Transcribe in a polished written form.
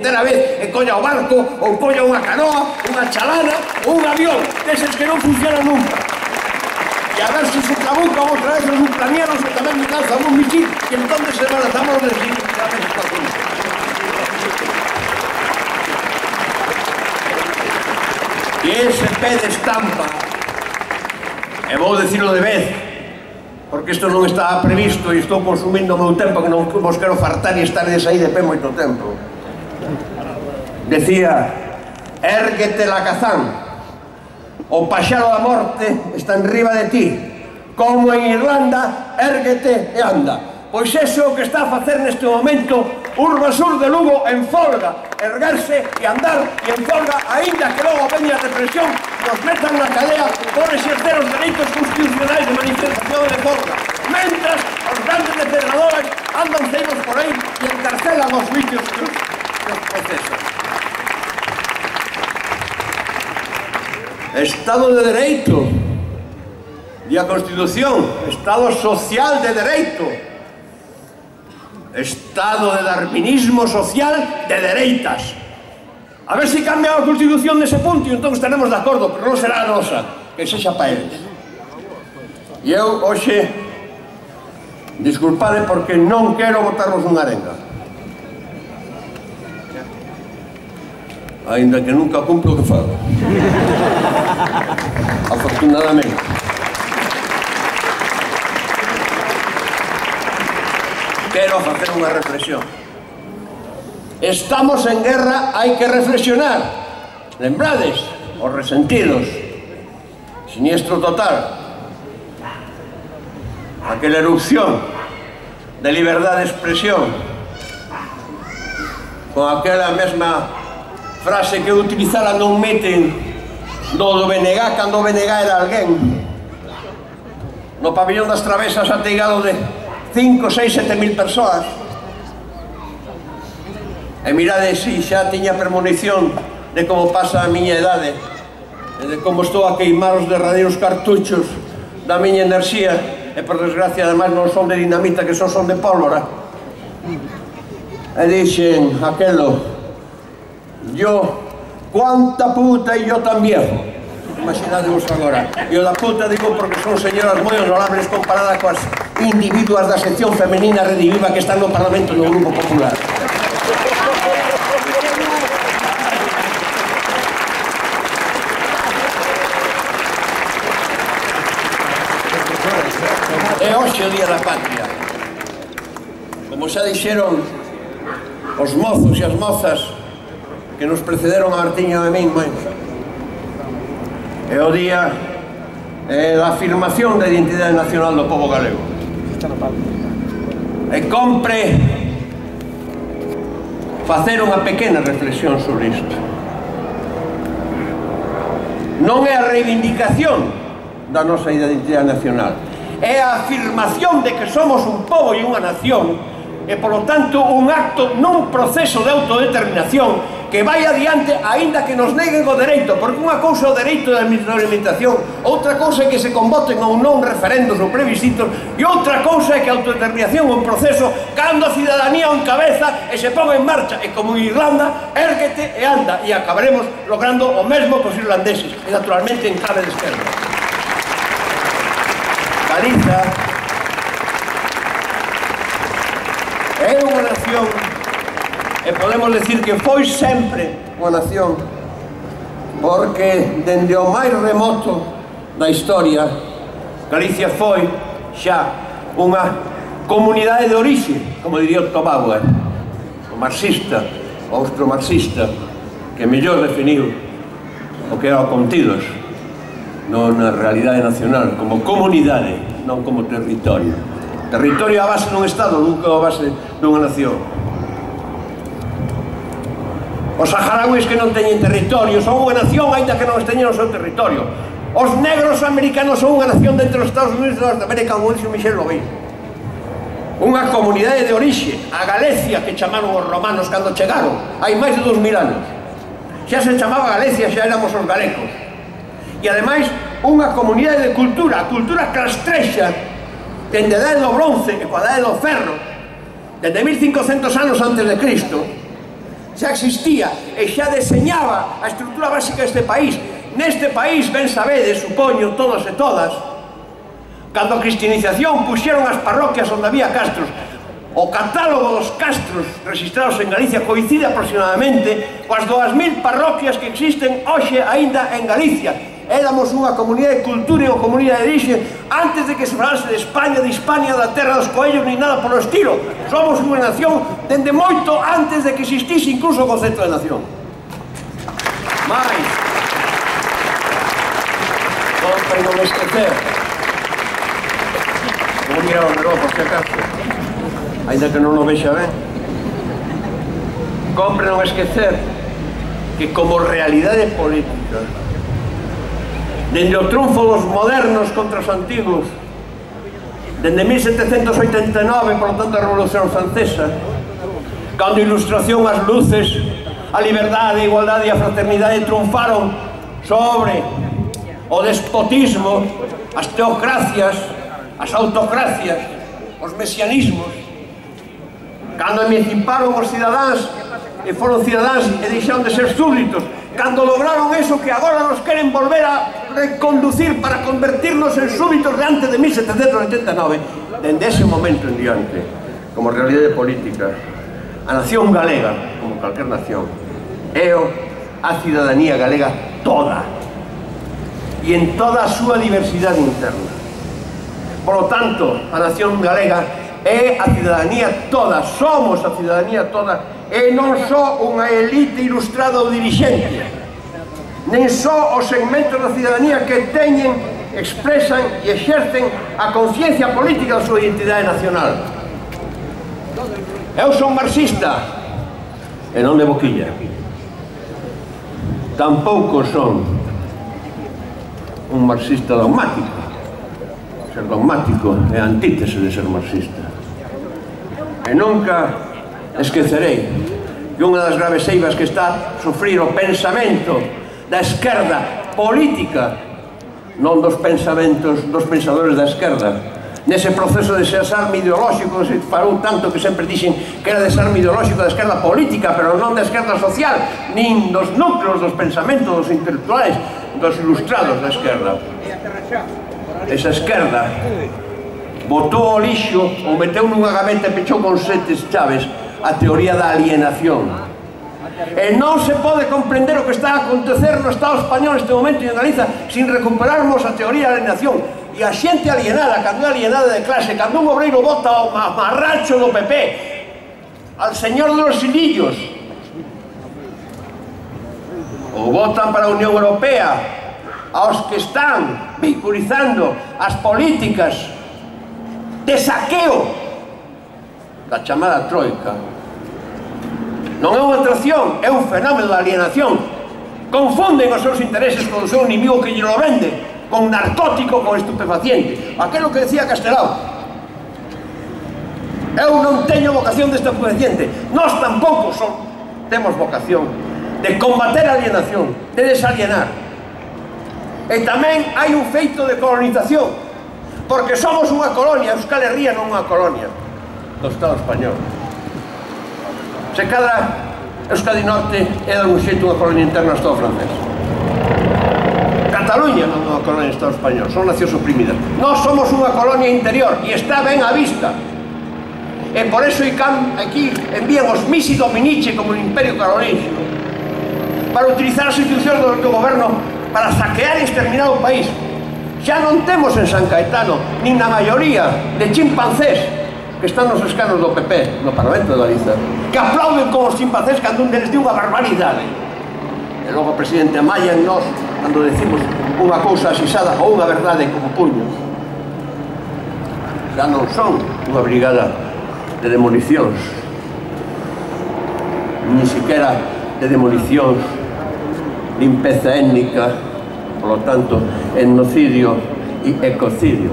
puñetera vez e colla o barco, ou colla unha canoa, unha chalana ou un avión, deses que non funcionan nunca. E a ver se se trabucan outra vez os ucranianos que tamén me lanzan un misil e entón se lanzamos de decir que a ver con isto. E ese pé de estampa, e vou dicilo de vez, porque isto non estaba previsto e estou consumindo o meu tempo que non vos quero fartar e estar aí de pé moito tempo. Decía, érguete Lacazán, o paxaro da morte está enriba de ti, como en Irlanda, érguete e anda. Pois iso é o que está a facer neste momento Urbasur de Lugo en folga, erguerse e andar e en folga, aínda que logo veña a represión, nos metan na cadea por exercer os dereitos constitucionais de manifestación e de folga. Mentras, os grandes depredadores andan ceibos por aí e encarcelan os vicios que os procesan. Estado de Dereito e a Constitución, Estado social de Dereito, Estado de darwinismo social de dereitas. A ver se cambia a Constitución nese punto e entón estaremos de acordo, pero non será a nosa, que sexa para eles. E eu, hoxe, disculpade porque non quero botarvos unha arenga. Ainda que nunca cumplo o que fago. Afortunadamente. Quero facer unha reflexión. Estamos en guerra, hai que reflexionar. Lembrades, os resentidos, siniestro total, aquela erupción de liberdade de expresión, con aquela mesma frase que utilizara non meeting do BNG, cando o BNG era alguén, no pabellón das Travesas ateigado de 5, 6, 7 mil persoas. E mirade, si, xa tiña premonición de como pasa a miña idade e de como estou a queimar os derradeiros cartuchos da miña enerxía e, por desgracia, ademais non son de dinamita, que son de pólvora. E dixen aquelo, yo, cuánta puta e yo tan viejo. Imaginadevos agora. E o da puta digo porque son señoras moi honorables comparadas coas individuas da sección femenina rediviva que están no Parlamento no Grupo Popular. É hoxe o Día da Patria. Como xa dixeron os mozos e as mozas que nos precederon a Martiño e a min, é o día da afirmación da identidade nacional do pobo galego. E compre facer unha pequena reflexión sobre isto. Non é a reivindicación da nosa identidade nacional, é a afirmación de que somos un pobo e unha nación e, polo tanto, un acto nun proceso de autodeterminación que vai adiante aínda que nos neguen o dereito, porque unha cousa é o dereito de alimentación, outra cousa é que se convoten ou non referendos ou plebiscitos, e outra cousa é que a autodeterminación é un proceso cando a cidadanía o encabeza e se pon en marcha, e como en Irlanda, érguete e anda, e acabaremos logrando o mesmo cos irlandeses, e naturalmente en clave de esquerda. Galiza é unha nación e podemos decir que foi sempre unha nación porque dende o máis remoto da historia Galicia foi xa unha comunidade de orixe, como diría Otto Bauer, o marxista, o austromarxista, que mellor definiu o que era o contidos non na realidade nacional, como comunidade, non como territorio. Territorio a base dun Estado, nunca a base dunha nación. Os saharauis que non teñen territorio son unha nación, aínda que non teñen o seu territorio. Os negros americanos son unha nación dentro dos Estados Unidos de Norteamérica, como dixo Michel Lobey. Unha comunidade de orixe, a Galicia, que chamaron os romanos cando chegaron, hai máis de 2000 anos. Xa se chamaba Galicia, xa éramos os galecos. E ademais, unha comunidade de cultura, a cultura castrexa, dende a Edade do Bronce e coa Edade do Ferro, dende 1500 anos antes de Cristo, xa existía e xa deseñaba a estrutura básica deste país. Neste país, ben sabedes, supoño, todos e todas, cando a cristianización puxeron as parroquias onde había castros, o catálogo dos castros registrados en Galicia coincide aproximadamente coas 2000 parroquias que existen hoxe aínda en Galicia. Éramos unha comunidade de cultura e unha comunidade de orixe antes de que se falase de España, de Hispania, da terra dos coellos, ni nada polo estilo. Somos unha nación dende moito antes de que existise incluso o concepto de nación. Mais, compre non esquecer, vou mirar o reloj por si acaso, ainda que non o vexa ben, compre non esquecer que como realidade política, dende o triunfo dos modernos contra os antigos, dende 1789, por lo tanto a Revolución Francesa, cando a Ilustración, as luces, a liberdade, a igualdade e a fraternidade triunfaron sobre o despotismo, as teocracias, as autocracias, os mesianismos, cando emanciparon os cidadáns e foron cidadáns e deixaron de ser súbditos, cando lograron eso que agora nos queren volver a reconducir para convertirnos en súbditos de antes de 1789, dende ese momento en diante, como realidade política, a nación galega, como calquer nación, é a cidadanía galega toda, e en toda a súa diversidade interna. Por lo tanto, a nación galega é a cidadanía toda, somos a cidadanía toda, e non só unha elite ilustrada ou dirixente, nen só os segmentos da cidadanía que teñen, expresan e exercen a conciencia política da súa identidade nacional. Eu son marxista, e non de boquilla. Tampouco son un marxista dogmático. Ser dogmático é a antítese de ser marxista. E nunca esquecerei que unha das graves eivas que está a sufrir o pensamento da esquerda política, non dos pensamentos dos pensadores da esquerda, nese proceso de desarme ideolóxico que se falou tanto, que sempre dixen que era desarme ideolóxico da esquerda política, pero non da esquerda social, nin dos núcleos dos pensamentos dos intelectuais, dos ilustrados da esquerda. Esa esquerda botou ao lixo ou meteu nunha gaveta e pechou con 7 chaves a teoría da alienación. E non se pode comprender o que está a acontecer no Estado español neste momento e en Galiza sin recuperarmos a teoría da alienación. E a xente alienada, cando é alienada de clase, cando un obreiro vota ao mamarracho do PP, al señor de los hilillos, ou votan para a Unión Europea, aos que están vehiculizando as políticas de saqueo da chamada troika, non é unha atracción, é un fenómeno de alienación. Confunden os seus intereses con o seu inimigo que lle lo vende, con narcótico, con estupefaciente. Aquelo que decía Castelao, eu non teño vocación de estupefaciente, nós tampouco temos vocación de combater a alienación, de desalienar. E tamén hai un feito de colonización, porque somos unha colonia, Euskal Herria non unha colonia do Estado español. Se cadra Euskadi Norte é de un xeito unha colonia interna do Estado francés. Cataluña non é unha colonia do Estado español, son nacións oprimidas. Nós somos unha colonia interior e está ben á vista. E por eso aquí envían os Misi Dominici como no Imperio Carolingio para utilizar as institucións do goberno para saquear e exterminar o país. Xa non temos en San Caetano nin na maioría de chimpancés que están nos escanos do PP no Parlamento de Galiza, que aplauden como os chimpancés cando un deles di unha barbaridade. E logo o presidente Amaya en nós cando decimos unha cousa asisada ou unha verdade como puños. Xa non son unha brigada de demolicións, ni siquiera de demolicións, limpeza étnica, por lo tanto, etnocidio e ecocidio.